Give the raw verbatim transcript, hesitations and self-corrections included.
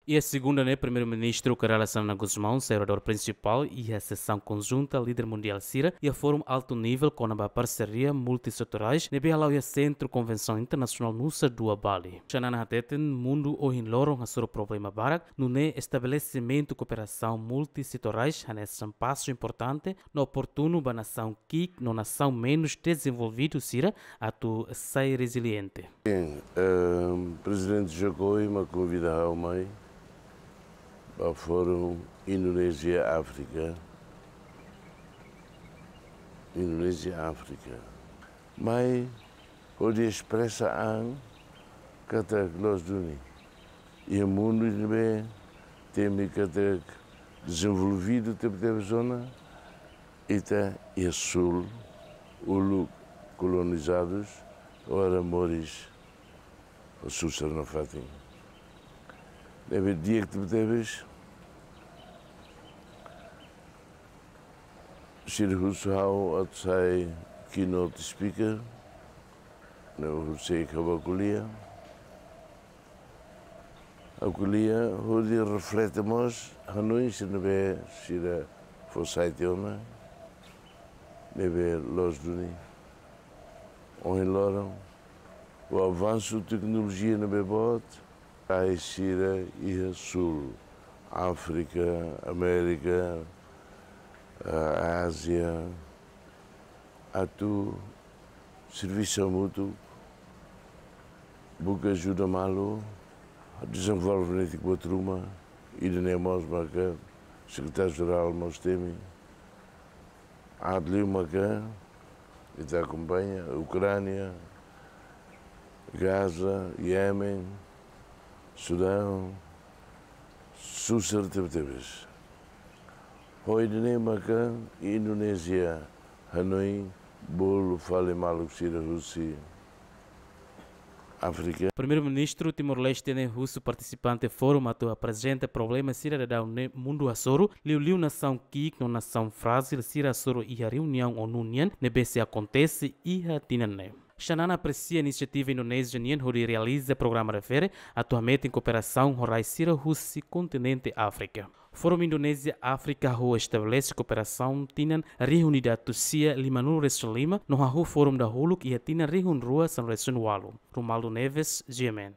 Iha segunda ne'e, Primeiru-Ministru Kay Rala Xanana Gusmão sai oradór prinsipál iha sesaun konjunta líder mundiál sira iha Fórum Altu Nivel kona-ba parseria multisetorais ne'ebé hala'o iha Sentru Konvensaun Internasionál Nusa Dua, Bali. Xanana hateten mundu ohin loron hasoru problema barak, nune'e estabelesimentu kooperasaun multisetorais hanesan pasu importante no oportunu ba nasaun ki'ik no nasaun menus dezenvolvidu sira atu sai reziliente. Sin, ehm, Prezidente Jokowi mak konvida ha'u mai ba Fórum Indonézia Áfrika. Indonézia Áfrika. Mai hodi espresa an katak loos duni. Iha mundu ne'ebé temi katak dezenvolvidu tebetebes ona, ita iha sul, uluk kolonizadus, agora moris ho susar nafatin. Ne'ebé di'ak tebetebes, sira husu ha'u atu sai keynote speaker, no ha'u sei hakarak ko'alia. Ha'u ko'alia hodi reflete mós hanoin sira ne'ebé sira fó sai tiha ona, ne'ebé loos duni. Ohin loron, ho avansu teknolojia ne'ebé boot, ai sira iha sul, Áfrika, Amérika, eh, Ázia, atu servisu hamutuk, buka ajuda malu, dezenvolve netik buat ruma, ida-ne'e mós maka Sekretáriu-Jerál mós temi, aat liu maka ita akompaña Ukránia, Gaza, Iémen, Sudão, susar tebetebes. Ho ida-ne'e maka Indonézia hanoin bolu fali maluk sira husi Áfrika. Primeiru-Ministru Timor-Leste ne'e husu partisipante fórum atu aprezenta problema sira daudaun ne'e mundu hasoru, liuliu nasaun ki'ik no nasaun frájil sira hasoru iha reuniaun ONU nian ne'ebé sei akontese iha tinan ne'e. Xanana apresia inisiativa Indonézia nian hodi realiza programa refere atu hametin kooperasaun ho rai sira husi kontinente Áfrika. Fórum Indonézia Áfrika hahú estabelese kooperasaun tinan rihun ida atus sia limanulu resin lima, no hahú fórum dahuluk iha tinan rihun rua sanulu resin walu. Romualdo Neves, G M N.